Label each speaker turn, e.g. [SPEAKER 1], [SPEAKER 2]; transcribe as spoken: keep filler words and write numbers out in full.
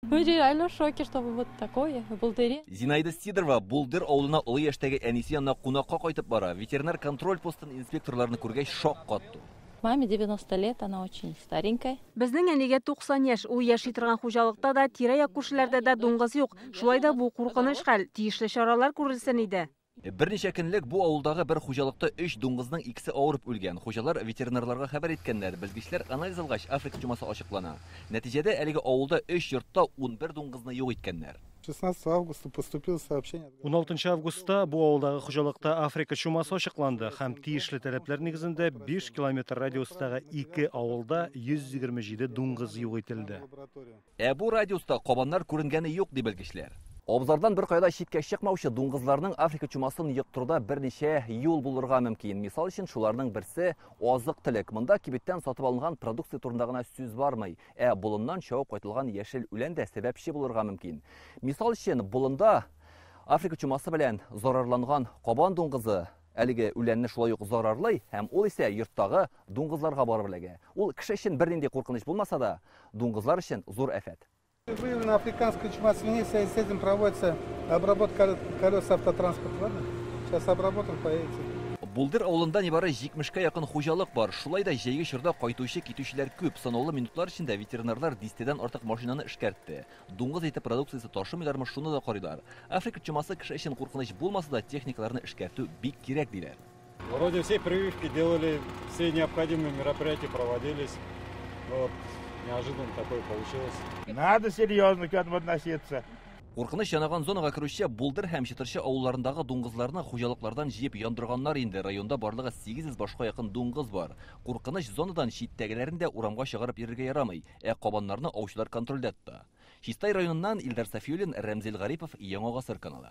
[SPEAKER 1] Мы реально в шоке, что вот такое в Булдыре.
[SPEAKER 2] Зинаида Сидорова Булдыр авылына олы яшьтәге әнисе янына кунакка кайтып бара. Ветеринар контроль постын инспекторларны күргәч шаккатты.
[SPEAKER 1] Маме девяносто лет, она очень старенькая.
[SPEAKER 3] Безнең әнигә туксан яшь, ул яши торган хуҗалыкта да, тирә-як күршеләрдә дә дуңгыз юк. Шулай да бу куркыныч хәл, тиешле чаралар күрелсен иде.
[SPEAKER 2] Берничә көнлек бу авылдагы бер хуҗалыкта өч дуңгызның икесе авырып үлгән. Хуҗалар ветеринарларга хәбәр иткәннәр. Белгечләр анализ алгач, Африка чумасы ачыклана. Нәтиҗәдә әлеге авылда өч йортта унбер дуңгызны юк иткәннәр.
[SPEAKER 4] шестнадцатого августа поступило сообщение.
[SPEAKER 5] Уналтынчы августта бу авылдагы хуҗалыкта Африка чумасы ачыкланды һәм тиешле таләпләр нигезендә биш километр радиустагы ике авылда йөз егерме җиде дуңгыз юк ителде.
[SPEAKER 2] Ә бу радиуста кабаннар күренгәне юк, ди белгечләр. Абзардан бер кайда читкә чыкмаучы дуңгызларның Африка чумасын йоктыруда берничә юл булырга мөмкин. Мисал өчен, шуларның берсе азык-төлек. Монда кибеттән сатып алынган продукция турында гына сүз бармый, ә болыннан чабып кайтылган яшел үлән дә сәбәпче булырга мөмкин. Мисал өчен, болында Африка чумасы белән зарарланган кабан дуңгызы әлеге үләнне шулай ук зарарлый һәм ул исә йорттагы дуңгызларга барып эләгә. Ул кеше өчен бернинди куркыныч булмаса да, дуңгызлар өчен зур афәт.
[SPEAKER 4] Выявлена африканская чума свиней, в связи с этим проводится обработка колес автотранспорта. Ладно? Сейчас обработаем, поедете.
[SPEAKER 2] Булдыр авылында нибары җитмешкә якын хуҗалык бар. Шулай да җәйге чорда кайтучы китүчеләр күп. Санаулы минутлар эчендә ветеринарлар дистәдән артык машинаны эшкәртте. Дуңгыз ите продукциясе ташымыйлармы, шуны да карыйлар. Африка чумасы кеше өчен куркыныч булмаса да, техникаларны эшкәртү бик кирәк, диләр.
[SPEAKER 6] Вроде все прививки делали, все необходимые мероприятия проводились. Вот. Неожиданно такое получилось.
[SPEAKER 7] Надо серьезно к этому относиться.
[SPEAKER 2] Куркыныч янаган зонага керүче Булдыр һәм Чытыршы авылларындагы дуңгызларны хуҗалыклардан җыеп яндырганнар инде. Районда барлыгы сигез йөз башка якын дуңгыз бар. Куркыныч зонадан читтәгеләрен дә урамга чыгарып йөрергә ярамый, ә кабаннарны аучылар контрольдә тота. Чистай районыннан Илдар Сафиуллин, Рәмзил Гарипов, Яңа Гасыр каналы.